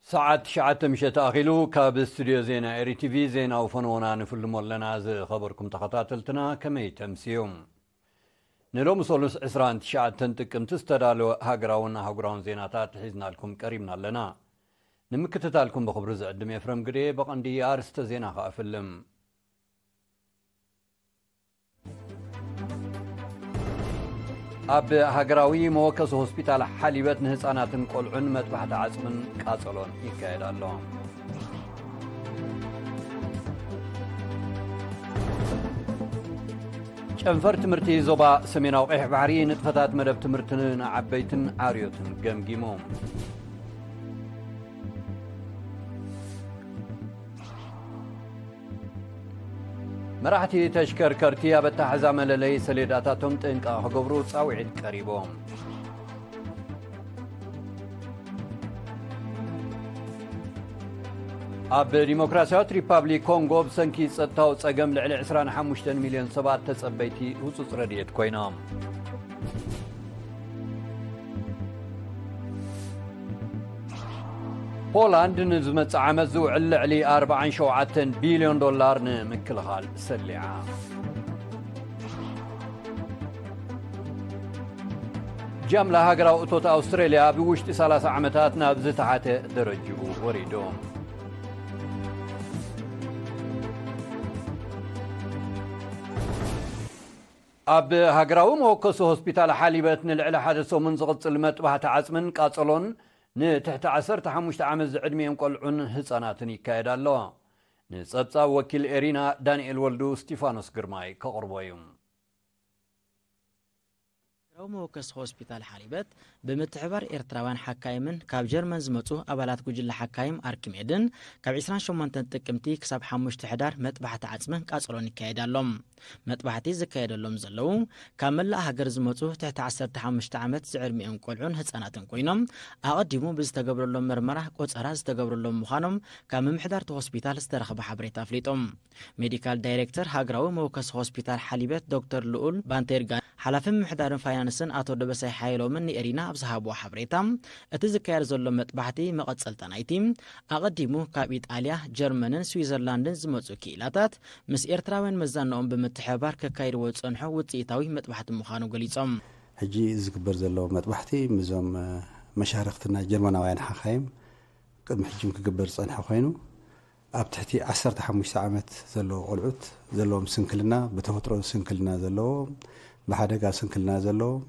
ሰዓት ትሽዓተ ምሸት ኣኺሉ ካብ ስቱድዮ ዜና ኤሪ ቲቪ ዜናዊ ፈነወና ንፍልሞ ኣለና። ዝኸበርኩም ተኸታተልትና ከመይ ተምስዩ? ንሎሚ ሰሉስ ዕስራን ትሽዓተን ጥቅምቲ ዝተዳለወ ሃገራውን ኣህጉራውን ዜናታት ሒዝናልኩም ቀሪብና ኣለና። ንምክትታልኩም ብኽብሪ ዝዕድም ኤፍረም ግዴ። በቐንዲ ኣርስተ ዜና ከኣ እፍልም። ኣብ ሃገራዊ መወከሲ ሆስፒታል ሓሊበት ንህፃናትን ቆልዑን መጥባሕቲ ዓፅምን ቃፀሎን ይካየድ ኣሎ። ጨንፈር ትምህርቲ ዞባ ሰሜናዊ ቀይሕ ባሕሪ ንጥፈታት መደብ ትምህርቲ ንዓበይትን ዓርዮትን ገምጊሙ። መራሕቲ ተሽከርከርቲ ኣብ ኣተሓሕዛ መለለይ ሰሌዳታቶም ጥንቃ ክገብሩ ጻውዒት ቀሪቦም። ኣብ ዲሞክራሲያዊት ሪፓብሊክ ኮንጎ ብሰንኪ ጸጥታዊ ጸገም ልዕሊ ዕስራን ሓሙሽተን ሚልዮን ሰባት ተጸበይቲ ህጹጽ ረድኤት ኮይኖም። ፖላንድ ንዝመጽእ ዓመት ዝውዕል ልዕሊ ኣርባዓን ሸውዓተን ቢልዮን ዶላር ንምክልኻል ሰሊዓ። ጃምላ ሃገራዊ እቶት ኣውስትራልያ ብውሽጢ ሰላሳ ዓመታት ናብ ዝተሓተ ደረጅኡ ወሪዱ። ኣብ ሃገራዊ መወከሲ ሆስፒታል ሓሊበት ንልዕሊ ሓደ ሰሙን ዝቕጽል መጥባሕቲ ዓጽምን ቃጸሎን ንትሕቲ ዓሰርተ ሓሙሽተ ዓመት ዝዕድሚኦም ቆልዑን ህጻናትን ይካየድ ኣሎ። ንጸብጻብ ወኪል ኤሪና ዳንኤል ወልዱ ስቲፋኖስ ግርማይ ከቕርቦ እዩ። ሃገራዊ መወከሲ ሆስፒታል ሓሊበት ብምትሕባር ኤርትራውያን ሓካይምን ካብ ጀርመን ዝመጹ ኣባላት ጉጅለ ሓካይም ኣርኪሜድን ካብ ዕስራን ሸሞንተን ጥቅምቲ ክሳብ ሓሙሽተ ሕዳር መጥባሕቲ ዓጽምን ቃጸሎን ይካየድ ኣሎ። መጥባሕቲ ዝካየደሎም ዘለዉ ካብ መላእ ሃገር ዝመጹ ትሕቲ ዓሰርተ ሓሙሽተ ዓመት ዝዕድሚኦም ቆልዑን ህጻናትን ኮይኖም ኣቐዲሙ ብዝተገብረሎም መርመራ ቆጸራ ዝተገብረሎም ምዃኖም ካብ ምምሕዳርቲ ሆስፒታል ዝተረኽበ ሓበሬታ ኣፍሊጦም። ሜዲካል ዳይሬክተር ሃገራዊ መወከሲ ሆስፒታል ሓሊበት ዶክተር ልኡል ባንቴርጋ ሓላፊ ምምሕዳርን ፋይናንስን ኣቶ ደበሳይ ሓየሎምን ንኤሪና ኣብ ዝሃብዎ ሓበሬታ እቲ ዝካየድ ዘሎ መጥባሕቲ መቐጸልታ ናይቲ ኣቐዲሙ ካብ ኢጣልያ፣ ጀርመንን ስዊዘርላንድን ዝመጹ ክኢላታት ምስ ኤርትራውያን መዛንኦም ብምትሕብባር ከካይድዎ ዝጸንሑ ውጽኢታዊ መጥባሕቲ ምዃኑ ገሊጾም። ሕጂ ዝግበር ዘሎ መጥባሕቲ ምስዞም መሻርኽትና ጀርመናውያን ሓኻይም ቅድሚ ሕጂ ክግበር ዝጸንሐ ኮይኑ ኣብ ትሕቲ ዓሰርተ ሓሙሽተ ዓመት ዘለዉ ቆልዑት ዘለዎም ስንክልና፣ ብተፈጥሮ ስንክልና ዘለዎም፣ ብሓደጋ ስንክልና ዘለዎም፣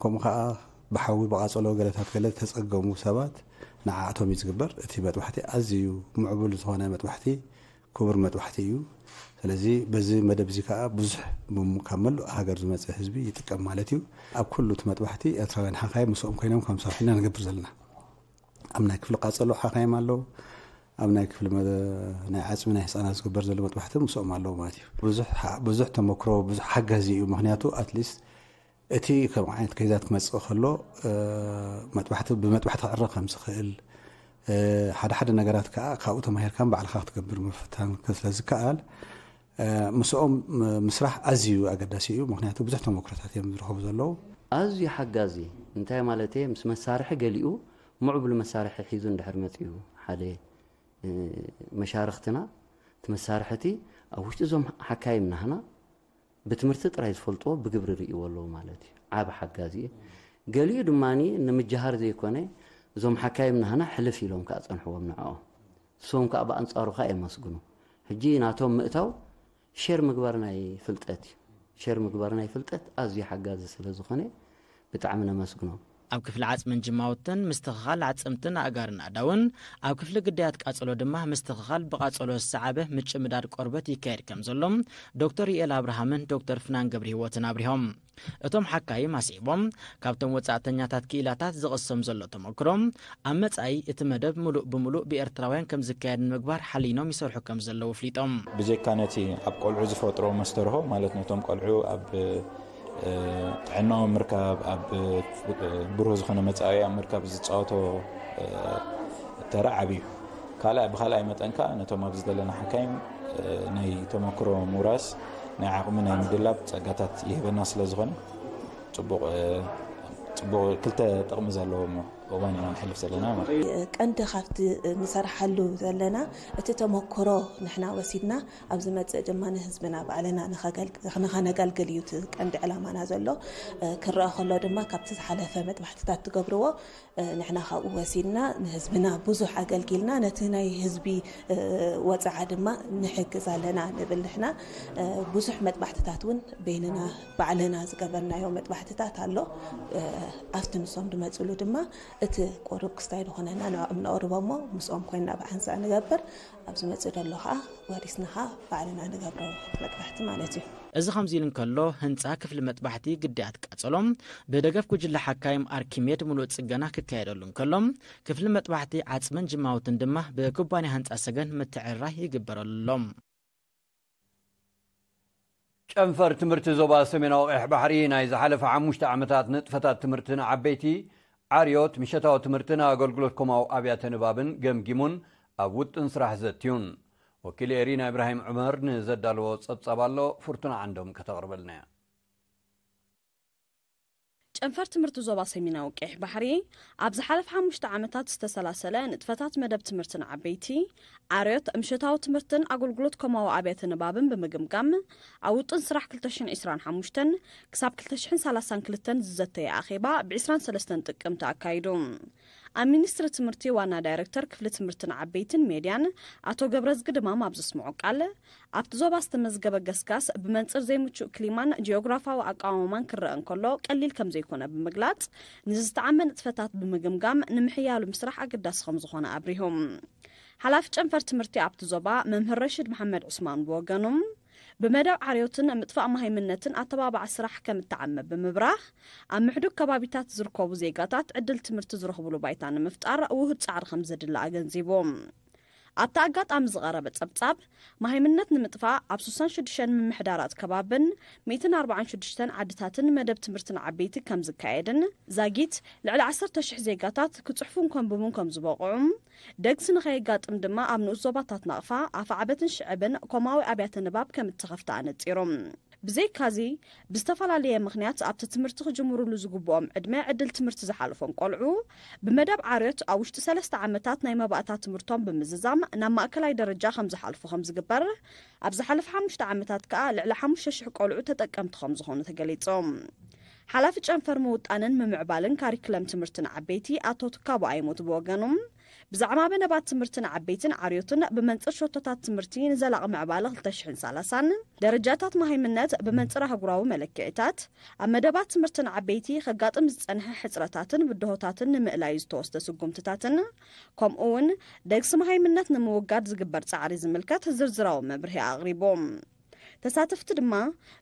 ከምኡ ኸዓ ብሓዊ ብቓጸሎ ገለታት ገለ ተጸገሙ ሰባት ንዓኣቶም እዩ ዝግበር። እቲ መጥባሕቲ ኣዝዩ ምዕቡል ዝኾነ መጥባሕቲ፣ ክቡር መጥባሕቲ እዩ። ስለዚ በዚ መደብ እዚ ከዓ ብዙሕ ብም-፣ ካብ መላእ ሃገር ዝመጸ ህዝቢ ይጥቀም ማለት እዩ። ኣብ ኩሉ እቲ መጥባሕቲ ኤርትራውያን ሓኻይ ምስኦም ኮይኖም ከም ሰራሕ ኢና ንገብር ዘለና። ኣብ ናይ ክፍሊ ቃጸሎ ሓኻይም ኣለዉ። ኣብ ናይ ክፍሊ መ-፣ ናይ ዓጽሚ ናይ ህጻናት ዝግበር ዘሎ መጥባሕቲ ምስኦም ኣለዉ ማለት እዩ። ብዙሕ ሓ-፣ ብዙሕ ተመክሮ፣ ብዙሕ ሓጋዚ እዩ። ምኽንያቱ ኣትሊስት እቲ ከም ዓይነት ከይዛት ክመጽእ ከሎ፣ እ፣ መጥባሕቲ፣ ብመጥባሕቲ ክዕረ ከም ዝኽእል፣ እ፣ ሓደ ሓደ ነገራት ከኣ ካብኡ ተማሂርካ ባዕልኻ ክትገብር ምፍታን ስለ ዝከኣል፣ እ፣ ምስኦም ምስራሕ ኣዝዩ ኣገዳሲ እዩ። ምኽንያቱ ብዙሕ ተመክሮታት እዮም ዝረኸቡ ዘለዉ። ኣዝዩ ሓጋዚ እንታይ ማለት እየ? ምስ መሳርሒ ገሊኡ ምዕቡል መሳርሒ ሒዙ እንድሕር መጺኡ ሓደ፣ እ፣ መሻርኽትና እቲ መሳርሒ እቲ ኣብ ውሽጢ እዞም ሓካይም ናህና ብትምህርቲ ጥራይ ዝፈልጥዎ ብግብሪ ርእይዎ ኣለዉ ማለት እዩ። ዓቢ ሓጋዚ እዩ። ገሊኡ ድማ ንምጅሃር ዘይኮነ እዞም ሓካይም ናህና ሕልፍ ኢሎም ከኣ ጸንሕዎም ንዕኦም። ንሶም ከኣ ብኣንጻሩ ከኣ የመስግኑ። ሕጂ ናቶም ምእታው ሼር ምግባር ናይ ፍልጠት እዩ። ሼር ምግባር ናይ ፍልጠት ኣዝዩ ሓጋዚ ስለ ዝኾነ ብጣዕሚ ነመስግኖም። ኣብ ክፍሊ ዓጽምን ጅማውትን ምስትኽኻል ዓጽምትን ኣእጋርን ኣእዳውን፣ ኣብ ክፍሊ ግዳያት ቃጸሎ ድማ ምስትኽኻል ብቃጸሎ ዝሰዓበ ምጭምዳድ ቆርበት ይካየድ ከም ዘሎ ዶክተር ዩኤል ኣብርሃምን ዶክተር ፍናን ገብረሂወትን ኣብሪሆም። እቶም ሓካይም ኣስዒቦም፣ ካብቶም ወጻእተኛታት ክኢላታት ዝቕሰም ዘሎ ተመክሮ፣ ኣብ መጻኢ እቲ መደብ ምሉእ ብምሉእ ብኤርትራውያን ከም ዝካየድ ንምግባር ሓሊኖም ይሰርሑ ከም ዘለዉ ኣፍሊጦም። ብጀካ ነቲ ኣብ ቆልዑ ዝፈጥሮ መስተርሆ፣ ማለት ነቶም ቆልዑ ኣብ፣ እ፣ ጥዕናኦም ምርካብ፣ ኣብ፣ እ፣ ብሩህ ዝኾነ መጻኢ ኣብ ምርካብ ዝጻወቶ፣ እ፣ ተራ ዓቢ እዩ። ካልኣይ፣ ብኻልኣይ መጠን ከኣ ነቶም ኣብዚ ዘለና ሓካይም፣ እ፣ ናይ ተመክሮ ምውራስ ናይ ዓቕሚ ናይ ምድላብ ጸጋታት ይህበና ስለ ዝኾነ ጽቡቕ፣ እ፣ ጽቡቕ ክልተ ጥቕሚ ዘለዎ እሞ እዋን ኢና ንሕልፍ ዘለና ማለት እዩ። ቀንዲ ካብቲ ንሰርሓሉ ዘለና እቲ ተመክሮ ንሕና ወሲድና ኣብ ዝመጽእ ድማ ንህዝብና ባዕልና ንኸገል-፣ ንኸነገልግል እዩ እቲ ቀንዲ ዕላማና ዘሎ። ክረአ ከሎ ድማ ካብቲ ዝሓለፈ መጥባሕትታት ትገብርዎ ንሕና ካብኡ ወሲድና ንህዝብና ብዙሕ ኣገልጊልና ነቲ ናይ ህዝቢ ወጽዓ ድማ ንሕግዝ ኣለና ንብል ንሕና። ብዙሕ መጥባሕትታት እውን በይንና ባዕልና ዝገበርናዮ መጥባሕትታት ኣሎ። ኣብቲ ንሶም ዝመጽሉ ድማ እቲ ቁሩብ ክስታይ ዝኾነና ንዕኦም ነቕርቦ እሞ ምስኦም ኮይንና ብሓንሳእ ንገብር። ኣብ ዝመጽእ ዘሎ ኸዓ ወሪስና ኸዓ ባዕልና ንገብሮ መጥባሕቲ ማለት እዩ። እዚ ከምዚ ኢሉ እንከሎ፣ ህንጻ ክፍሊ መጥባሕቲ ግዳያት ቃጸሎ ብደገፍ ጉጅለ ሓካይም ኣርኪሜድ ምሉእ ጽገና ክካየደሉ እንከሎ፣ ክፍሊ መጥባሕቲ ዓጽምን ጅማውትን ድማ ብኩባንያ ህንጻ ሰገን ምትዕርራይ ይግበረሉ ኣሎ። ጨንፈር ትምህርቲ ዞባ ሰሜናዊ ቀይሕ ባሕሪ ናይ ዝሓለፈ ሓሙሽተ ዓመታት ንጥፈታት ትምህርቲ ንዓበይቲ፣ ዓርዮት፣ ምሸታዊ ትምህርትን ኣገልግሎት ኮማዊ ኣብያተ ንባብን ገምጊሙን ኣብ ውጥን ስራሕ ዘትዩን። ወኪል ኤሪና ኢብራሂም ዑመር ንዘዳለዎ ጸብጻብ ኣሎ፣ ፍርቱና ዓንዶም ከተቕርበልና እያ። ጨንፈር ትምህርቲ ዞባ ሰሜናዊ ቀይሕ ባሕሪ ኣብ ዝሓለፈ ሓሙሽተ ዓመታት ዝተሰላሰለ ንጥፈታት መደብ ትምህርቲ ንዓበይቲ፣ ዓርዮት፣ ምሸታዊ ትምህርትን ኣገልግሎት ኮማዊ ኣብያተ ንባብን ብምግምጋም፣ ኣብ ውጥን ስራሕ ክልተ ሽሕን ዕስራን ሓሙሽተን ክሳብ ክልተ ሽሕን ሰላሳን ክልተን ዝዘተየ ኣኼባ ብ ዕስራን ሰለስተን ጥቅምቲ ኣካይዱ። ኣብ ሚኒስትሪ ትምህርቲ ዋና ዳይሬክተር ክፍሊ ትምህርቲ ንዓበይትን ሜድያን ኣቶ ገብረዝጊ ድማም ኣብ ዘስምዖ ቃል፣ ኣብቲ ዞባ ዝተመዝገበ ገስጋስ ብመንጽር ዘይምቹእ ክሊማን ጂኦግራፋዊ ኣቃውማን ክረአ እንከሎ ቀሊል ከም ዘይኮነ ብምግላጽ፣ ንዝተዓመ ንጥፈታት ብምግምጋም ንምሕያሉ ምስራሕ ኣገዳሲ ከም ዝኾነ ኣብሪሁ። ሓላፊ ጨንፈር ትምህርቲ ኣብቲ ዞባ መምህር ረሽድ መሓመድ ዑስማን ብወገኑ፣ ብመደብ ዓርዮትን ምጥፋእ መሃይምነትን ኣተባባዒ ስራሕ ከም እተዓመ ብምብራህ፣ ኣብ ምሕዱግ ከባቢታት ዝርከቡ ዜጋታት ዕድል ትምህርቲ ዝረኽብሉ ባይታ ንምፍጣር ውሁድ ጻዕሪ ከም ዘድሊ ኣገንዚቡ። ኣብቲ ኣጋጣሚ ዝቐረበ ጸብጻብ፣ መሃይምነት ንምጥፋእ ኣብ ስሳን ሽዱሽተን ምምሕዳራት ከባብን ሚእትን ኣርባዓን ሽዱሽተን ዓድታትን መደብ ትምህርቲ ንዓበይቲ ከም ዝካየድን፣ ዛጊት ልዕሊ ዓሰርተ ሽሕ ዜጋታት ክጽሕፉን ከንብቡን ከም ዝበቕዑ፣ ደግሲ ንኸየጋጥም ድማ ኣብ ንኡስ ዞባታት ናቕፋ፣ ኣፍዓበትን ሽዕብን ኮማዊ ኣብያተ ንባብ ከም እተኸፍተ ኣነጺሩ። ብዘይካዚ፣ ብዝተፈላለየ ምኽንያት ኣብቲ ትምህርቲ ክጅምሩሉ ዝግብኦም ዕድመ ዕድል ትምህርቲ ዝሓለፎም ቆልዑ፣ ብመደብ ዓርዮት ኣብ ውሽጢ ሰለስተ ዓመታት ናይ መባእታ ትምህርቶም ብምዝዛም ናብ ማእከላይ ደረጃ ከም ዝሓልፉ ከም ዝግበር፣ ኣብ ዝሓለፈ ሓሙሽተ ዓመታት ከኣ ልዕሊ ሓሙሽተ ሽሕ ቆልዑ ተጠቀምቲ ከም ዝኾኑ ተገሊጹ። ሓላፊ ጨንፈር ምውጣንን ምምዕባልን ካሪክለም ትምህርቲ ንዓበይቲ ኣቶ ትካቦ ኣይሞት ብወገኖም፣ ብዛዕባ መደባት ትምህርቲ ንዓበይትን ዓርዮትን ብመንጽር ሸቶታት ትምህርቲ ንዘላቒ ምዕባለ ክልተ ሽሕን ሰላሳን፣ ደረጃታት መሃይምነት ብመንጽር ኣህጉራዊ መለክዒታት፣ ኣብ መደባት ትምህርቲ ንዓበይቲ ከጋጥም ዝጸንሐ ሕጽረታትን ብድሆታትን ንምእላዩ ዝተወስደ ስጉምትታትን፣ ከምኡ እውን ደግሲ መሃይምነት ንምውጋድ ዝግበር ጻዕሪ ዝምልከት ዝርዝራዊ መብርሂ ኣቕሪቦም። ተሳተፍቲ ድማ፣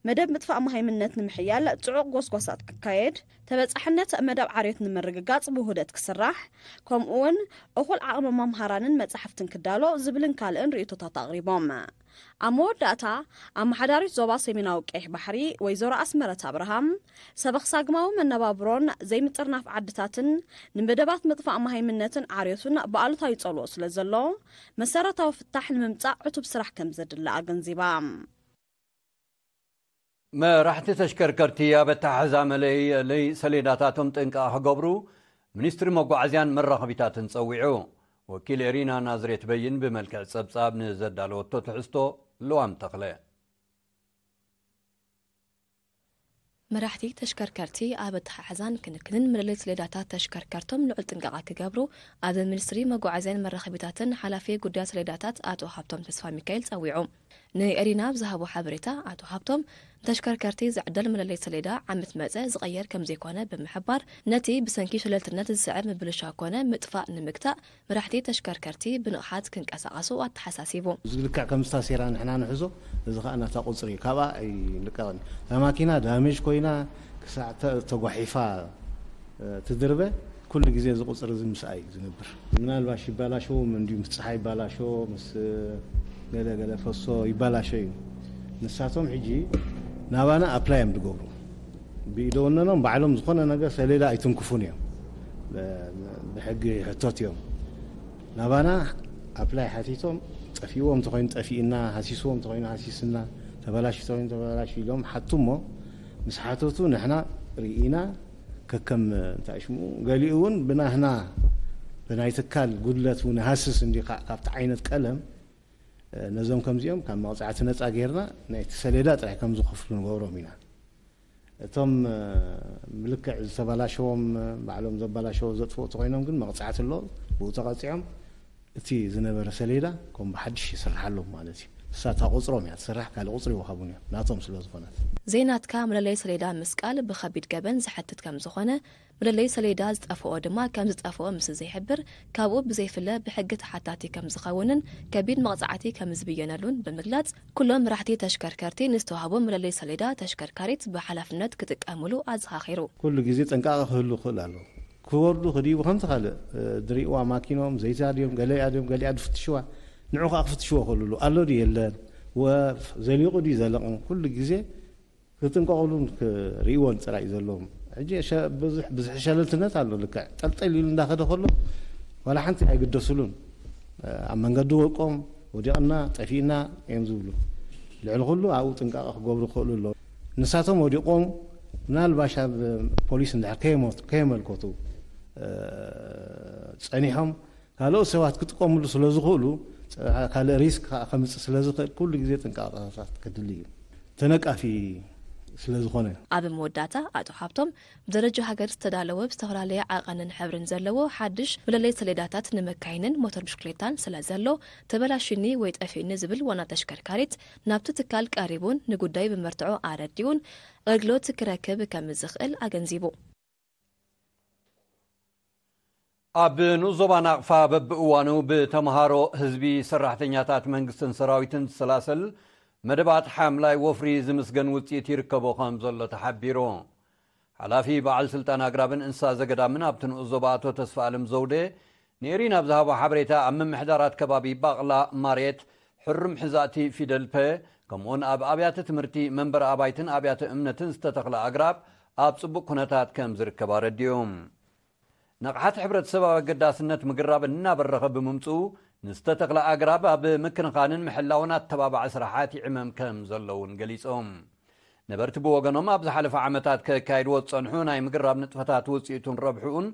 መደብ ምጥፋእ መሃይምነት ንምሕያል ጽዑቕ ጎስጓሳት ክካየድ፣ ተበጻሕነት መደብ ዓርዮት ንምርግጋጽ ብውህደት ክስራሕ፣ ከምኡ እውን እኹል ዓቕሚ መምሃራንን መጻሕፍትን ክዳሎ ዝብልን ካልእን ርእይቶታት ኣቕሪቦም። ኣብ መወዳእታ፣ ኣመሓዳሪት ዞባ ሰሜናዊ ቀይሕ ባሕሪ ወይዘሮ ኣስመረት ኣብርሃም፣ ሰበኽ ሳግማዊ መነባብሮን ዘይምጥርናፍ ዓድታትን ንመደባት ምጥፋእ መሃይምነትን ዓርዮትን ብኣሉታዊ ጸልኦ ስለ ዘሎ፣ መሰረታዊ ፍታሕ ንምምጻእ ዕቱብ ስራሕ ከም ዘድሊ ኣገንዚባ። መራሕቲ ተሽከርከርቲ ኣብ ኣተሓሕዛ መለለዪ ሰሌዳታቶም ጥንቃቐ ክገብሩ ሚኒስትሪ መጓዓዝያን መራኸቢታትን ጸዊዑ። ወኪል ኤሪና ናዝሬት በይን ብመልክዕ ጸብጻብ ንዘዳለወቶ ትሕዝቶ ልዋም ተኽለ። መራሕቲ ተሽከርከርቲ ኣብ ኣተሓሕዛን ክንክንን መለለዪ ሰሌዳታት ተሽከርከርቶም ልዑል ጥንቃቐ ክገብሩ ኣብ ሚኒስትሪ መጓዓዝያን መራኸቢታትን ሓላፊ ጉዳያት ሰሌዳታት ኣቶ ሃብቶም ተስፋ ሚካኤል ጸዊዑ። ንኤሪና ኣብ ዝሃቦ ሓበሬታ ኣቶ ሃብቶም፣ ንተሽከርከርቲ ዝዕደል መለለዪ ሰሌዳ ዓመት መጸ ዝቐየር ከም ዘይኮነ ብምሕባር፣ ነቲ ብሰንኪ ሸለልትነት ዝስዕብ ምብልሻው ኮነ ምጥፋእ ንምግታእ መራሕቲ ተሽከርከርቲ ብንቕሓት ክንቀሳቐሱ ኣተሓሳሲቡ። እዚ ልክዕ ከም ዝታሴራ ንሕና ንሕዞ፣ እዚ ኸኣ ናታ ቁጽሪ እዩ፣ ካብኣ ኣይልቀቕን። እታ ማኪና ዳሜጅ ኮይና ክሳዕ ተ-፣ ተጓሒፋ፣ እ፣ ትድርበ፣ ኩሉ ግዜ እዚ ቁጽሪ እዚ ምስኣ እዩ ዝነብር። ምናልባሽ ይባላሸው፣ እንዲሁ ምስ ጸሓይ ይባላሾ፣ ምስ፣ እ፣ ገለ ገለ ፈሶ ይባላሾ እዩ። ንሳቶም ሕጂ ናባና ኣፕላይ እዮም ዝገብሩ። ብኢደወነኖም ባዕሎም ዝኾነ ነገር ሰሌዳ ኣይትንክፉን እዮም። ብ-፣ ብሕጊ ሕቶት እዮም። ናባና ኣፕላይ ሓቲቶም፣ ጠፊእዎም እንተኾይኑ ጠፊእና፣ ሃሲስዎም እንተኾይኑ ሃሲስና፣ ተበላሽ እንተኾይኑ ተበላሽ ኢሎም ሓቱ እሞ፣ ምስ ሓተቱ ንሕና ርኢና፣ ከከም እንታይ ሽሙ፣ ገሊኡ እውን ብናህና ብናይ ትካል ጉድለት እውን ሃስስ እንዲ ካብቲ ዓይነት ቀለም ነዞም ከምዚኦም ካብ መቕፃዕቲ ነፃ ጌርና ናይቲ ሰሌዳ ጥራይ ከም ዝኸፍሉ ንገብሮም ኢና። እቶም ምልክዕ ዝተበላሸዎም ባዕሎም ዘበላሸዎ ዘጥፍኡ ተኮይኖም ግን መቕፃዕቲ ኣሎ። ብኡ ተቐፂዖም እቲ ዝነበረ ሰሌዳ ከም ብሓድሽ ይስርሓሎም ማለት እዩ። እሳ እታ ቁፅሮም እያ ትስራሕ፣ ካልእ ቁፅሪ ይወሃቡን እዮም ናቶም ስለ ዝኾነት። ዘይናትካ መለለይ ሰሌዳ ምስቃል ብኸቢድ ገበን ዝሓትት ከም ዝኾነ፣ መለለይ ሰሌዳ ዝጠፍኦ ድማ ከም ዝጠፍኦ ምስ ዘይሕብር፣ ካብኡ ብዘይፍለ ብሕጊ ተሓታቲ ከም ዝኸውንን ከቢድ መቕፃዕቲ ከም ዝብየነሉን ብምግላፅ፣ ኩሎም መራሕቲ ተሽከርከርቲ ንዝተዋህቦም መለለይ ሰሌዳ ተሽከርካሪት ብሓላፍነት ክጥቀምሉ ኣዘኻኺሩ። ኩሉ ግዜ ጥንቃቐ ክህሉ ይኽእል ኣሎ። ክወርዱ ክድይቡ ከምቲ ካልእ ዝርእዋ ማኪኖም ዘይታ ድዮም ገለያ ድዮም ገሊኣ ዝፍትሽዋ ንዑ ከዓ ክፍትሽዎ ክእልሉ ኣሎ ድዩ የለን ወ ዘሊቑ ድዩ ዘለቕን ኩሉ ግዜ ክጥንቀቑሉን ክርእይዎን ጥራይ እዩ ዘለዎም። ሕጂ ሸ- ብዙሕ ብዙሕ ሸለልትነት ኣሎ። ልክዕ ጠልጠል ኢሉ እንዳኸደ ከሎ ዋላ ሓንቲ ኣይግደስሉን። ኣብ መንገዲ ወድቆም ወዲቕና ጠፊእና እዮም ዝብሉ። ልዕሊ ኩሉ ኣብኡ ጥንቃቐ ክገብሩ ክኽእሉ ኣለዎም። ንሳቶም ወዲቖም ምናልባሽ ኣብ ፖሊስ እንድሕር ከየመት- ከየመልከቱ እ፣ ጸኒሖም ካልኦት ሰባት ክጥቀምሉ ስለ ዝኽእሉ፣ ጸ- ካልእ ሪስክ ከዓ ከምጽእ ስለ ዝኽእል ኩሉ ግዜ ጥንቃቐታት ክድሊ እዩ። ተነቃፊ ስለ ዝኾነ። ኣብ መወዳእታ ኣቶ ሓብቶም ብደረጃ ሃገር ዝተዳለወ ብዝተፈላለየ ዓቐንን ሕብርን ዘለዎ ሓድሽ መለለይ ሰሌዳታት ንመካይንን ሞተር ብሽክሌታን ስለ ዘሎ ተበላሽኒ ወይ ጠፊእኒ ዝብል ዋና ተሽከርካሪት ናብቲ ትካል ቀሪቡን ንጉዳዩ ብመርትዖ ኣረዲኡን ኣገልግሎት ክረክብ ከም ዝኽእል ኣገንዚቡ። ኣብ ንኡስ ዞባ ናቕፋ በብእዋኑ ብተምሃሮ፣ ህዝቢ፣ ሰራሕተኛታት መንግስትን ሰራዊትን ዝሰላሰል መደባት ሓምላይ ወፍሪ ዝምስገን ውፅኢት ይርከቦ ከም ዘሎ ተሓቢሩ። ሓላፊ በዓል ስልጣን ኣግራብን እንስሳ ዘገዳምን ኣብቲ ንኡስ ዞባ ኣቶ ተስፋኣለም ዘውዴ ንኤሪና ኣብ ዝሃቦ ሓበሬታ ኣብ ምምሕዳራት ከባቢ ባቕላ ማሬት ሕሩም ሕዛእቲ ፊደል ፐ ከምኡውን ኣብ ኣብያተ ትምህርቲ መንበሪ ኣባይትን ኣብያተ እምነትን ዝተተኽለ ኣግራብ ኣብ ፅቡቕ ኩነታት ከም ዝርከብ ኣረዲኡ። ንቕሓት ሕብረተሰብ ኣብ ኣገዳስነት ምግራብ እናበረኸ ብምምፅኡ ንዝተተኽለ ኣግራብ ኣብ ምክንኻንን ምሕላውን ኣተባባዒ ስራሓት ይዕመም ከም ዘሎ እውን ገሊፆም። ነበርቲ ብወገኖም ኣብ ዝሓለፈ ዓመታት ከካይድዎ ዝፀንሑ ናይ ምግራብ ንጥፈታት ውፅኢቱን ረብሕኡን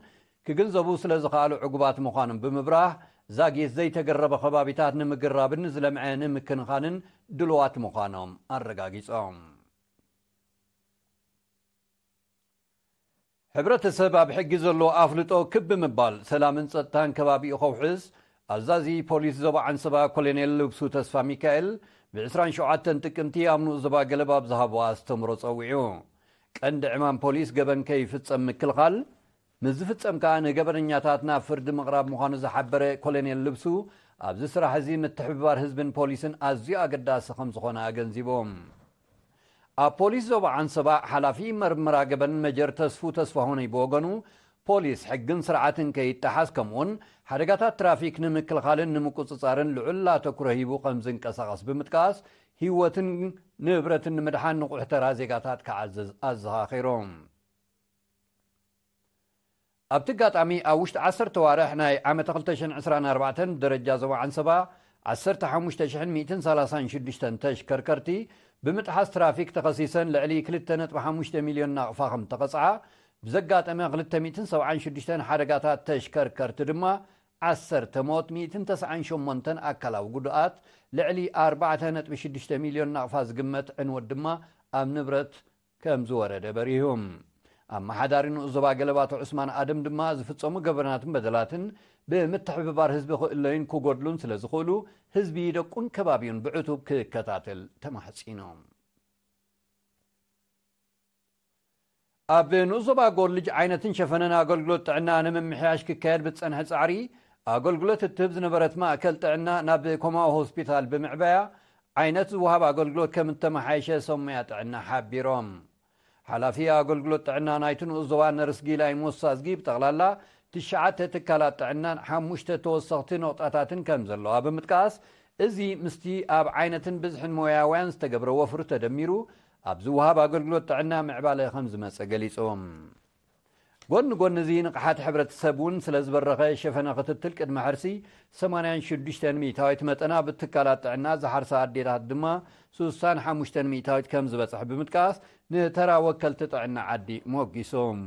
ክግንዘቡ ስለ ዝኸኣሉ ዕጉባት ምዃኖም ብምብራህ ዛጊት ዘይተገረበ ከባቢታት ንምግራብን ዝለምዐ ንምክንኻንን ድሉዋት ምዃኖም ኣረጋጊፆም። ሕብረተሰብ ኣብ ሕጊ ዘለዎ ኣፍልጦ ክብ ብምባል ሰላምን ፀጥታን ከባቢኡ ከውሕስ ኣዛዚ ፖሊስ ዞባ ዓንሰባ ኮሎኔል ልብሱ ተስፋ ሚካኤል ብ ዕስራን ሸውዓተን ጥቅምቲ ኣብ ንኡስ ዞባ ገለባ ኣብ ዝሃቦ ኣስተምሮ ፀዊዑ። ቀንዲ ዕማም ፖሊስ ገበን ከይፍፀም ምክልኻል፣ ምስ ዝፍፀም ከዓ ንገበነኛታት ናብ ፍርዲ ምቕራብ ምዃኑ ዝሓበረ ኮሎኔል ልብሱ ኣብዚ ስራሕ እዚ ምትሕብባር ህዝብን ፖሊስን ኣዝዩ ኣገዳሲ ከም ዝኾነ ኣገንዚቦም። ኣብ ፖሊስ ዞባ ዓንሰባ ሓላፊ መርመራ ገበን መጀር ተስፉ ተስፋሁነይ ብወገኑ ፖሊስ ሕግን ስርዓትን ከይጠሓስ ከምኡውን ሓደጋታት ትራፊክ ንምክልኻልን ንምቁፅፃርን ልዑል ኣተኩሮ ሂቡ ከም ዝንቀሳቐስ ብምጥቃስ ህይወትን ንብረትን ንምድሓን ንቑሕ ተራ ዜጋታት ክዓዝዝ ኣዘኻኺሮም። ኣብቲ ኣጋጣሚ ኣብ ውሽጢ ዓሰርተ ዋርሕ ናይ ዓመተ ክልተ ሽሕን ዕስራን ኣርባዕተን ደረጃ ዞባ ዓንሰባ ዓሰርተ ሓሙሽተ ሽሕን ሚእትን ሰላሳን ሽዱሽተን ተሽከርከርቲ ብምጥሓስ ትራፊክ ተኸሲሰን ልዕሊ ክልተ ነጥቢ ሓሙሽተ ሚልዮን ናቕፋ ከም ተቐፅዓ ብዘጋጠመ ክልተ ሚእትን ሰብዓን ሽዱሽተን ሓደጋታት ተሽከርከርቲ ድማ ዓሰርተ ሞት ሚእትን ተስዓን ሸሞንተን ኣካላዊ ጉድኣት ልዕሊ ኣርባዕተ ነጥቢ ሽዱሽተ ሚልዮን ናቕፋ ዝግመት ዕንወት ድማ ኣብ ንብረት ከም ዝወረደ በሪሁ። ኣመሓዳሪ ንኡስ ዞባ ገለባቶ ዑስማን ኣደም ድማ ዝፍጸሙ ገበናትን በደላትን ብምትሕብባር ህዝቢ ክእለዩን ክጎድሉን ስለ ዝኽእሉ ህዝቢ ደቁን ከባቢኡን ብዕቱብ ክከታተል ተማሕጺኖም። ኣብ ንኡስ ዞባ ጎልጅ ዓይነትን ሸፈነን ኣገልግሎት ጥዕና ንምምሕያሽ ክካየድ ብዝጸንሐ ጻዕሪ ኣገልግሎት እትህብ ዝነበረት ማእከል ጥዕና ናብ ኮማዊ ሆስፒታል ብምዕባያ ዓይነት ዝወሃብ ኣገልግሎት ከም እተመሓየሸ ሰሙያ ጥዕና ሓቢሮም። ሓላፊ ኣገልግሎት ጥዕና ናይቲ ንኡስ ዞባ ነርስ ጊላይ ሞሳዝጊ ብጠቕላላ ትሽዓተ ትካላት ጥዕናን ሓሙሽተ ተወሰኽቲ ነቑጣታትን ከም ዘለዋ ብምጥቃስ እዚ ምስቲ ኣብ ዓይነትን ብዝሕን ሞያውያን ዝተገብረ ወፍሪ ተደሚሩ ኣብ ዝወሃብ ኣገልግሎት ጥዕና ምዕባለ ከም ዝመፀ ገሊፆም። ጎኒ ጎኒ እዚ ንቕሓት ሕብረተሰብ እውን ስለ ዝበረኸ ሸፈነ ክትትል ቅድሚ ሕርሲ ሰማንያን ሽዱሽተን ሚእታዊት መጠን ኣብ ትካላት ጥዕና ዝሓርሳ ኣዴታት ድማ ስሳን ሓሙሽተን ሚእታዊት ከም ዝበፅሕ ብምጥቃስ ንተራ ወከልቲ ጥዕና ዓዲ ሞጊሶም።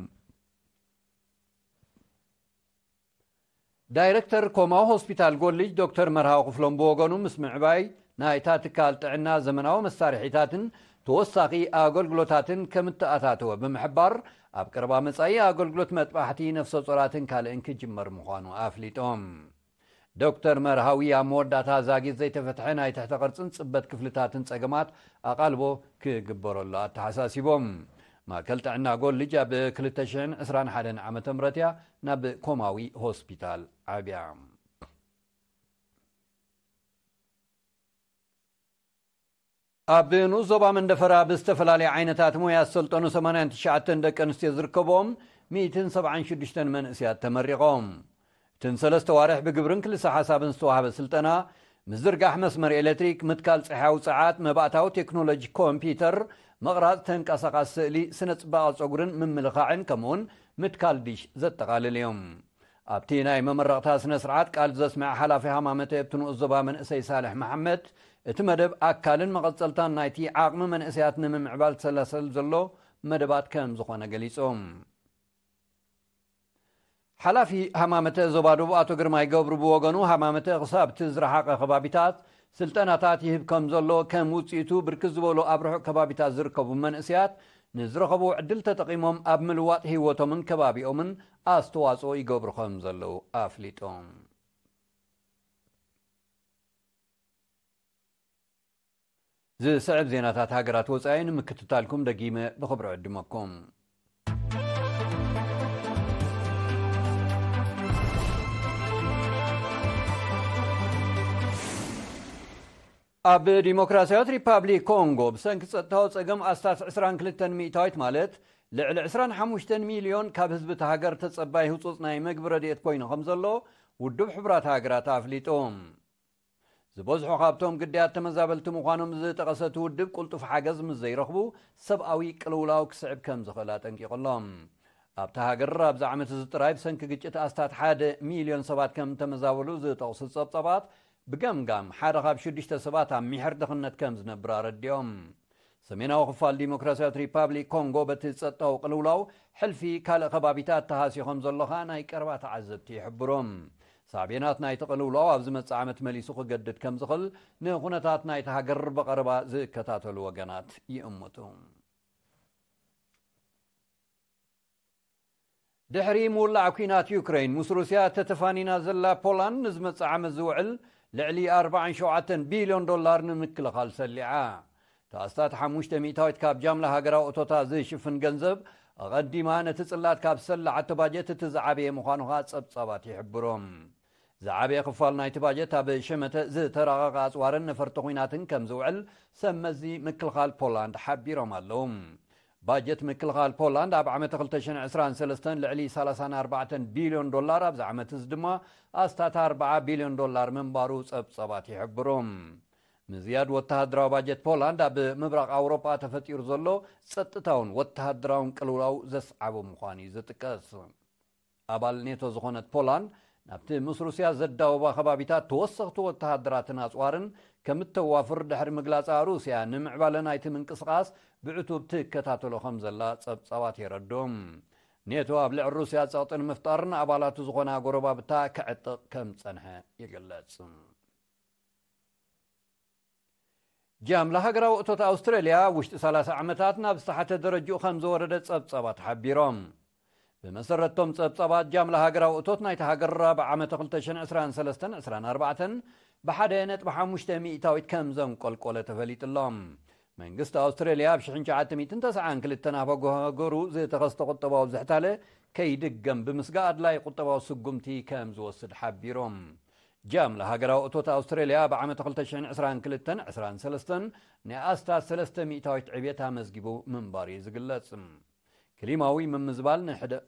ዳይረክተር ኮማዊ ሆስፒታል ጎልጅ ዶክተር መርሃዊ ክፍሎም ብወገኑ፣ ምስ ምዕባይ ናይታ ትካል ጥዕና ዘመናዊ መሳርሒታትን ተወሳኺ ኣገልግሎታትን ከም እተኣታተወ ብምሕባር፣ ኣብ ቀረባ መጻኢ ኣገልግሎት መጥባሕቲ ነፍሰ ጾራትን ካልእን ክጅመር ምዃኑ ኣፍሊጦም። ዶክተር መርሃዊ ኣብ መወዳእታ ዛጊት ዘይተፈትሐ ናይ ትሕተ ቅርጽን ጽበት ክፍልታትን ጸገማት ኣቓልቦ ክግበረሉ ኣተሓሳሲቦም። ማእከል ጥዕና ጎልጅ ኣብ ክልተ ሽሕን ዕስራን ሓደን ዓመተ ምህረት እያ ናብ ኮማዊ ሆስፒታል ዓብያ። ኣብ ንኡስ ዞባ መንደፈራ ብዝተፈላለየ ዓይነታት ሞያ ዝሰልጠኑ ሰማንያን ትሽዓተን ደቂ ኣንስትዮ ዝርከቦም ሚእትን ሰብዓን ሽዱሽተን መንእስያት ተመሪቖም። እትን ሰለስተ ዋርሕ ብግብርን ክልሰ ሓሳብን ዝተዋህበ ስልጠና፣ ምዝርጋሕ መስመር ኤሌክትሪክ፣ ምትካል ጸሓያዊ ጸዓት፣ መባእታዊ ቴክኖሎጂ ኮምፒውተር፣ ምቕራጽ ተንቀሳቓሲ ስእሊ፣ ስነ ጽባቐ ጸጉርን ምምልኻዕን፣ ከምኡውን ምትካል ዲሽ ዘጠቓልል እዮም። ኣብቲ ናይ መመረቕታ ስነ ስርዓት ቃል ዘስምዐ ሓላፊ ሃማመተ ኣብቲ ንኡስ ዞባ መንእሰይ ሳልሕ መሓመድ፣ እቲ መደብ ኣካልን መቐጸልታን ናይቲ ዓቕሚ መንእሰያት ንምምዕባል ዝሰላሰል ዘሎ መደባት ከም ዝኾነ ገሊጹ። ሓላፊ ሃማመተ ዞባ ደቡብ ኣቶ ግርማይ ገብሩ ብወገኑ፣ ሃማመተ ክሳብ እቲ ዝረሓቐ ከባቢታት ስልጠናታት ይህብ ከም ዘሎ፣ ከም ውጽኢቱ ብርክት ዝበሉ ኣብ ርሑቕ ከባቢታት ዝርከቡ መንእሰያት ንዝረኸቡ ዕድል ተጠቒሞም ኣብ ምልዋጥ ህይወቶምን ከባቢኦምን ኣስተዋጽኦ ይገብሩ ከም ዘለዉ ኣፍሊጦም። ዝስዕብ ዜናታት ሃገራት ወጻኢ ንምክትታልኩም ደጊመ ብኽብሪ ዕድመኩም። ኣብ ዲሞክራሲያዊት ሪፓብሊክ ኮንጎ ብሰንኪ ጸጥታዊ ጸገም ኣስታት ዕስራን ክልተን ሚእታዊት፣ ማለት ልዕሊ ዕስራን ሓሙሽተን ሚልዮን ካብ ህዝቢ እቲ ሃገር ተጸባይ ህጹጽ ናይ መግቢ ረድኤት ኮይኑ ከም ዘሎ ውድብ ሕቡራት ሃገራት ኣፍሊጡ። ዝበዝሑ ካብቶም ግዳያት ተመዛበልቲ ምዃኖም ዝጠቐሰ እቲ ውድብ፣ ቅልጡፍ ሓገዝ ምስ ዘይረኽቡ ሰብኣዊ ቅልውላው ክስዕብ ከም ዝኽእል ኣጠንቂቑ ኣሎ። ኣብታ ሃገር ኣብዚ ዓመት እዚ ጥራይ ብሰንኪ ግጭት ኣስታት ሓደ ሚልዮን ሰባት ከም ተመዛበሉ ዝጠቕሱ ጸብጻባት፣ ብገምጋም ሓደ ካብ ሽዱሽተ ሰባት ኣብ ሚሕር ድኽነት ከም ዝነብር ኣረዲኦም። ሰሜናዊ ክፋል ዲሞክራሲያዊት ሪፓብሊክ ኮንጎ በቲ ጸጥታዊ ቅልውላው ሕልፊ ካልእ ከባቢታት ተሃስዩ ከም ዘሎ ኸኣ ናይ ቀረባ ተዓዘብቲ ይሕብሩ። ሳዕቤናት ናይቲ ቅልውላው ኣብ ዝመጽእ ዓመት መሊሱ ክገድድ ከም ዝኽእል ንኹነታት ናይቲ ሃገር ብቐረባ ዝከታተሉ ወገናት ይእምቱ። ድሕሪ ምውላዕ ኲናት ዩክሬን ምስ ሩስያ ተተፋኒና ዘላ ፖላንድ፣ ንዝመጽእ ዓመት ዝውዕል ልዕሊ ኣርባዓን ሸውዓተን ቢልዮን ዶላር ንምክልኻል ሰሊዓ። እቲ ኣስታት ሓሙሽተ ሚእታዊት ካብ ጃምላ ሃገራዊ እቶታ ዝሽፍን ገንዘብ፣ ኣቐዲማ ነቲ ጽላት ካብ ዝሰላዓቶ ባጀት እቲ ዝዓበየ ምዃኑ ኸኣ ጸብጻባት ይሕብሩ። ዝዓበየ ክፋል ናይቲ ባጀት ኣብ ሸመተ ዝተራቐቐ ኣጽዋርን ነፈርቲ ኲናትን ከም ዝውዕል ሰብ መዚ ምክልኻል ፖላንድ ሓቢሮም ኣለዉ። ባጀት ምክልኻል ፖላንድ ኣብ ዓመት ክልተ ሽሕን ዕስራን ሰለስተን ልዕሊ ሰላሳን ኣርባዕተን ቢልዮን ዶላር፣ ኣብዚ ዓመት እዚ ድማ ኣስታት ኣርብዓ ቢልዮን ዶላር ምንባሩ ጸብጻባት ይሕብሩ። ምዝያድ ወተሃደራዊ ባጀት ፖላንድ ኣብ ምብራቕ ኣውሮጳ ተፈጢሩ ዘሎ ጸጥታውን ወተሃደራውን ቅልውላው ዘስዓቦ ምዃኑ እዩ ዝጥቀስ። ኣባል ኔቶ ዝኾነት ፖላንድ፣ ናብቲ ምስ ሩስያ ዘዳወባ ከባቢታት ተወሰኽቲ ወተሃደራትን ኣጽዋርን ከም እተዋፍር ድሕሪ ምግላጻ፣ ሩስያ ንምዕባለ ናይቲ ምንቅስቓስ ብዕቱብ ትከታተሎ ከም ዘላ ጸብጻባት የረድኡ። ኔቶ ኣብ ልዕሊ ሩስያ ጸቕጢ ንምፍጣር ንኣባላቱ ዝኾና ጎረባብታ ክዕጥቕ ከም ዝጸንሐ ይግለጽ። ጃምላ ሃገራዊ እቶት ኣውስትራልያ ኣብ ውሽጢ ሰላሳ ዓመታት ናብ ዝተሓተ ደረጅኡ ከም ዝወረደ ጸብጻባት ሓቢሮም። ብመሰረቶም ጸብጻባት፣ ጃምላ ሃገራዊ እቶት ናይቲ ሃገር ኣብ ዓመተ ክልተ ሽሕን ዕስራን ሰለስተን ዕስራን ኣርባዕተን ብሓደ ነጥቢ ሓሙሽተ ሚእታዊት ከም ዘንቆልቆለ ተፈሊጡ ኣሎ። መንግስቲ ኣውስትራልያ ኣብ ሽሕን ትሽዓተ ሚእትን ተስዓን ክልተን ኣብ ሃገሩ ዝተኸስተ ቁጠባዊ ዝሕታለ ከይድገም ብምስጋእ ኣድላይ ቁጠባዊ ስጉምቲ ከም ዝወስድ ሓቢሮም። ጃምላ ሃገራዊ እቶት ኣውስትራልያ ኣብ ዓመት ክልተ ሽሕን ዕስራን ክልተን ዕስራን ሰለስተን ናይ ኣስታት ሰለስተ ሚእታዊት ዕብየት ኣመዝጊቡ ምንባሩ እዩ ዝግለጽ። ክሊማዊ ምምዝባል ንሕደ-፣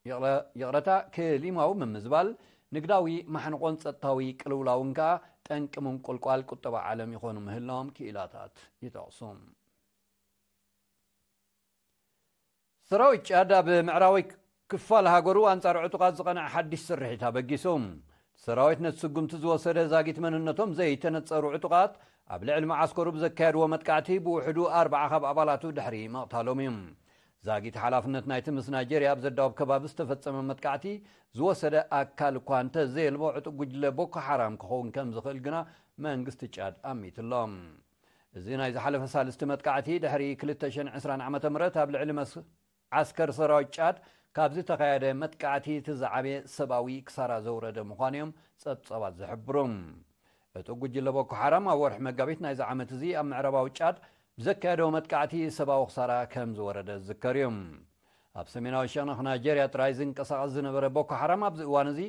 ይቕረ-፣ ይቕረታ፣ ክሊማዊ ምምዝባል ንግዳዊ ማሕንቆን ጸጥታዊ ቅልውላውን ከኣ ጠንቂ ምንቁልቋል ቁጠባ ዓለም ይኾኑ ምህላዎም ክኢላታት ይጠቕሱ። ሰራዊት ጫድ ኣብ ምዕራባዊ ክፋል ሃገሩ ኣንጻር ዕጡቓት ዝቐንዐ ሓድሽ ስርሒት ኣበጊሱ። ሰራዊት ነቲ ስጉምቲ ዝወሰደ፣ ዛጊት መንነቶም ዘይተነጸሩ ዕጡቓት ኣብ ልዕሊ መዓስከሩ ብዘካየድዎ መጥቃዕቲ ብውሕዱ ኣርባዓ ካብ ኣባላቱ ድሕሪ ምቕታሎም እዩ። ዛጊት ሓላፍነት ናይቲ ምስ ናይጄርያ ኣብ ዘዳወብ ከባቢ ዝተፈጸመ መጥቃዕቲ ዝወሰደ ኣካል እኳ እንተዘየልቦ፣ ዕጡቕ ጉጅለ ቦኮ ሓራም ክኸውን ከም ዝኽእል ግና መንግስቲ ጫድ ኣሚቱ ኣሎ። እዚ ናይ ዝሓለፈ ሳልስቲ መጥቃዕቲ ድሕሪ ክልተ ሽሕን ዕስራን ዓመተ ምህረት ኣብ ልዕሊ መስ-፣ ዓስከር ሰራዊት ጫድ ካብ ዝተኻየደ መጥቃዕቲ እቲ ዝዓበየ ሰብኣዊ ክሳራ ዘውረደ ምዃኑ እዮም ጸብጻባት ዝሕብሩ። እቲ ጉጅለ ቦኮ ሓራም ኣብ ወርሒ መጋቢት ናይዚ ዓመት እዚ ኣብ ምዕራባዊ ጫድ ብዘካየዶ መጥቃዕቲ ሰብኣዊ ክሳራ ከም ዝወረደ ዝዝከር እዩ። ኣብ ሰሜናዊ ሸነኽ ናይጄርያ ጥራይ ዝንቀሳቐስ ዝነበረ ቦኮ ሓራም ኣብዚ እዋን እዚ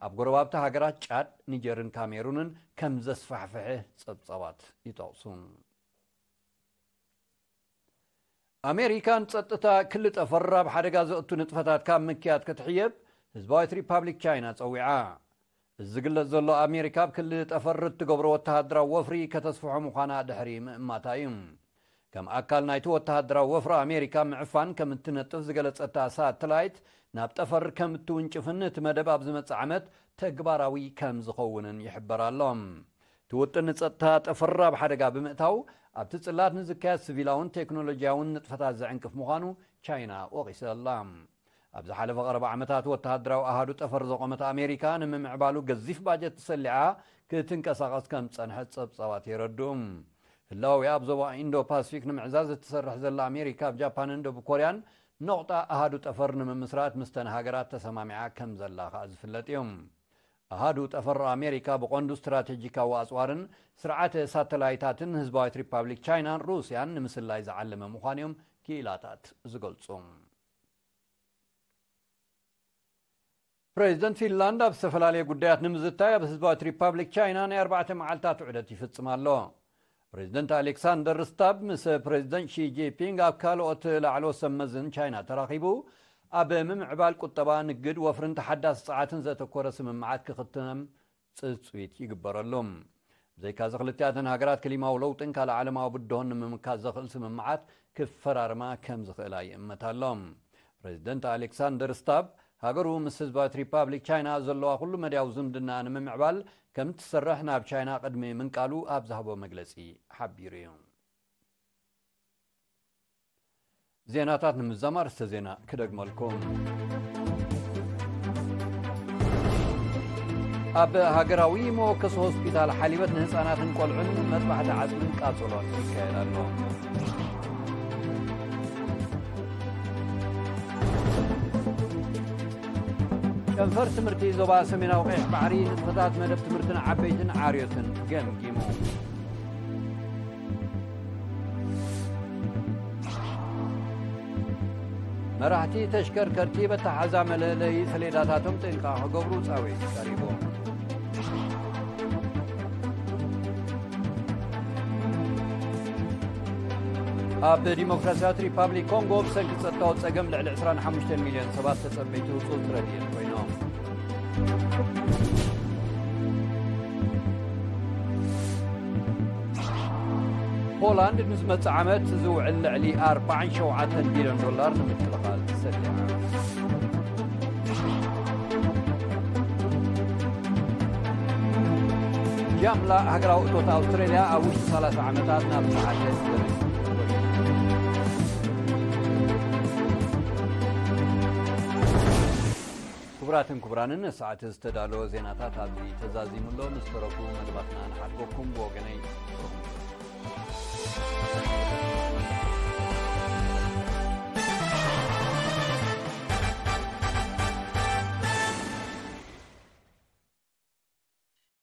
ኣብ ጎረባብቲ ሃገራት ጫድ፣ ኒጀርን ካሜሩንን ከም ዘስፋሕፍሐ ጸብጻባት ይጠቕሱ። ኣሜሪካ ንጸጥታ ክሊ ጠፈር ኣብ ሓደጋ ዘእቱ ንጥፈታት ካብ ምክያድ ክትሕየብ ህዝባዊት ሪፓብሊክ ቻይና ጸዊዓ። እዚ ዝግለጽ ዘሎ ኣሜሪካ ኣብ ክሊ ጠፈር እትገብሮ ወተሃደራዊ ወፍሪ ከተስፍሖ ምዃና ድሕሪ ምእማታ እዩ። ከም ኣካል ናይቲ ወተሃደራዊ ወፍሪ ኣሜሪካ ምዕፋን ከም እትነጥፍ ዝገለጸታ ሳተላይት ናብ ጠፈር ከም እትውንጭፍን እቲ መደብ ኣብ ዝመጽእ ዓመት ተግባራዊ ከም ዝኸውንን ይሕበር ኣሎ። እቲ ውጥን ንጸጥታ ጠፈር ኣብ ሓደጋ ብምእታው ኣብቲ ጽላት ንዝካየድ ሲቪላውን ቴክኖሎጂያውን ንጥፈታት ዘዕንቅፍ ምዃኑ ቻይና ወቒሳ ኣላ። ኣብ ዝሓለፈ ቀረባ ዓመታት ወተሃደራዊ ኣሃዱ ጠፈር ዘቖመት ኣሜሪካ ንምምዕባሉ ገዚፍ ባጀት ተሰሊዓ ክትንቀሳቐስ ከም ዝጸንሐት ጸብጻባት የረድኡ። ህላወ ኣብ ዞባ ኢንዶ ፓሲፊክ ንምዕዛዝ እትሰርሕ ዘላ ኣሜሪካ ኣብ ጃፓንን ደቡብ ኮርያን ነቑጣ ኣሃዱ ጠፈር ንምምስራት ምስተን ሃገራት ተሰማሚዓ ከም ዘላ ከኣ ዝፍለጥ እዩ። ኣሃዱ ጠፈር ኣሜሪካ ብቐንዱ ስትራቴጂካዊ ኣጽዋርን ስርዓተ ሳተላይታትን ህዝባዊት ሪፓብሊክ ቻይናን ሩስያን ንምስላይ ዝዓለመ ምዃኑ እዮም ክኢላታት ዝገልጹ። ፕሬዚደንት ፊንላንድ ኣብ ዝተፈላለየ ጉዳያት ንምዝታይ ኣብ ህዝባዊት ሪፓብሊክ ቻይና ናይ ኣርባዕተ መዓልታት ዑደት ይፍጽም ኣሎ። ፕሬዚደንት ኣሌክሳንደር ስታብ ምስ ፕሬዚደንት ሺ ጂንፒንግ ኣብ ካልኦት ላዕለዎት ሰብ መዝን ቻይና ተራኺቡ ኣብ ምምዕባል ቁጠባ፣ ንግድ፣ ወፍርን ተሓዳሲ ጸዓትን ዘተኮረ ስምምዓት ክኽተም ጽጽዊት ይግበረሉ። ብዘይካዚ ክልቲኣተን ሃገራት ክሊማዊ ለውጥን ካልእ ዓለማዊ ብድሆን ንምምካት ዘኽእል ስምምዓት ክፈራርማ ከም ዝኽእላ ይእመት ኣሎ። ፕሬዚደንት ኣሌክሳንደር ስታብ ሃገሩ ምስ ህዝባዊት ሪፓብሊክ ቻይና ዘለዋ ኩሉ መድያዊ ዝምድና ንምምዕባል ከም ትሰርሕ ናብ ቻይና ቅድሚ ምንቃሉ ኣብ ዝሃቦ መግለጺ ሓቢሩ እዩ። ዜናታት ንምዝዛም ኣርእስተ ዜና ክደግመልኩም። ኣብ ሃገራዊ መወከሲ ሆስፒታል ሓሊበት ንህፃናትን ቆልዑን መጥባሕቲ ዓፅምን ቃፀሎን ይካየድ ኣሎ። ጨንፈር ትምህርቲ ዞባ ሰሜናዊ ቀይሕ ባሕሪ ንጥፈታት መደብ ትምህርትን ዓበይትን ዓርዮትን ገምጊሙ። መራሕቲ ተሽከርከርቲ በተሓዛ መለለዪ ሰሌዳታቶም ጥንቃ ክገብሩ ጻውዒት ቀሪቡ። ኣብ ዲሞክራሲያዊት ሪፓብሊክ ኮንጎ ብሰንኪ ጸጥታዊ ጸገም ልዕሊ ዕስራን ሓሙሽተን ሚልዮን ሰባት ተጸበይቲ ህጹጽ ረድኤት ኮይኖም። ፖላንድ ንዝመጽእ ዓመት ዝውዕል ልዕሊ ኣርባዓን ሸውዓተን ቢልዮን ዶላር ንምክልኻል ሰሊዓ። ጃምላ ሃገራዊ እቶት ኣውስትራልያ ኣብ ውሽጢ ሰላሳ ዓመታት ናብ ዝሓሸ ደረጃ። ክቡራትን ክቡራንን፣ ንሰዓት ዝተዳለወ ዜናታት ኣብዚ ተዛዚሙ ኣሎ። ምስ ተረፉ መደባትና ንሓድገኩም። ብወገነይ